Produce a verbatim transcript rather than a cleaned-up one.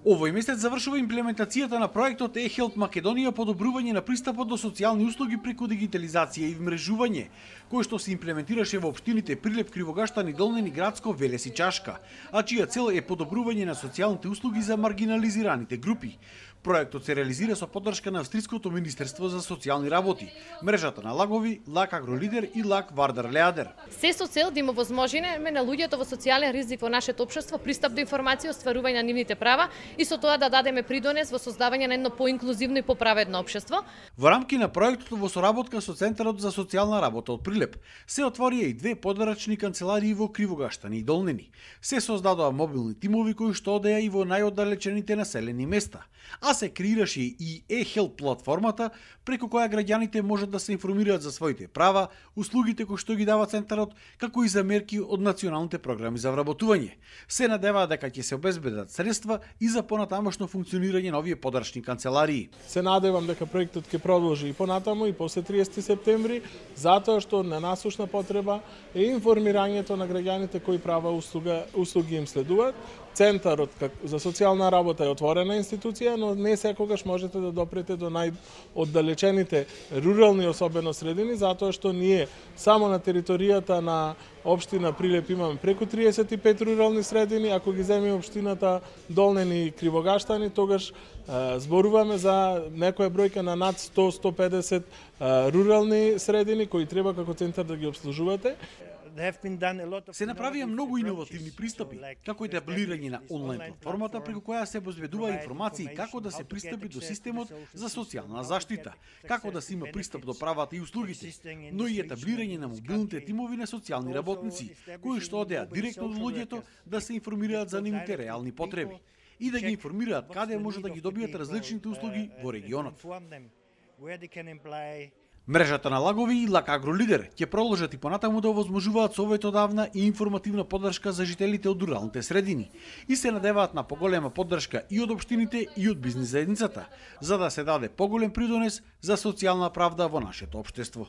Овој месец завршува имплементацијата на проектот e-Health Македонија подобрување на пристапот до социјални услуги преку дигитализација и вмрежување, кој што се имплементираше во општините Прилеп, Кривогаштан и Долнени, Градско, Велес и Чашка, а чија цел е подобрување на социјалните услуги за маргинализираните групи. Проектот се реализира со поддршка на Австриското Министерство за социјални работи, мрежата на лагови, Лак Агролидер и Лак Вардар Леадер. Се со цел да им овозможиме на луѓето во социјален ризик во нашето општество пристап до информација, остварување на нивните права и со тоа да дадеме придонес во создавање на едно поинклузивно и поправедно општество. Во рамки на проектот во соработка со Центарот за социјална работа од Прилеп се отворија и две подарачни канцеларии во Кривогаштан и Долнени. Се создадоа мобилни тимови кои што одеа и во најоддалечените населени места, а се креираше и e-Health платформата преку која граѓаните можат да се информираат за своите права, услугите кои што ги дава Центарот, како и за мерки од националните програми за вработување. Се надеваат дека ќе се обезбедат средства и за понатамошно функционирање на овие подарачни канцеларии. Се надевам дека проектот ќе продолжи и понатаму и после триесети септември, затоа што на насушна потреба е информирањето на граѓаните кои права услуга, услуги им следуваат. Центарот за социјална работа е отворена институција, но не секогаш можете да допрете до најоддалечените рурални особено средини, затоа што ние само на територијата на општина Прилеп имаме преку триесет и пет рурални средини, ако ги земеме општината Долнени и Кривогаштани, тогаш е, зборуваме за некоја бројка на над сто до сто и педесет е, рурални средини кои треба како центар да ги обслужувате. Се направија многу иновативни пристапи, како и таблирање на онлайн платформата преку која се обезбедува информации како да се пристапи до системот за социјална заштита, како да се има пристап до правата и услугите, но и етаблирање на мобилните тимови на социјални работници, кои што одеа директно до луѓето да се информираат за нивните реални потреби и да ги информираат каде може да ги добијат различните услуги во регионот. Мрежата на лагови и Лак Агролидер ќе продолжат и понатаму да овозможуваат советодавна и информативна поддршка за жителите од руралните средини и се надеваат на поголема поддршка и од општините и од бизнис заедницата, за да се даде поголем придонес за социјална правда во нашето општество.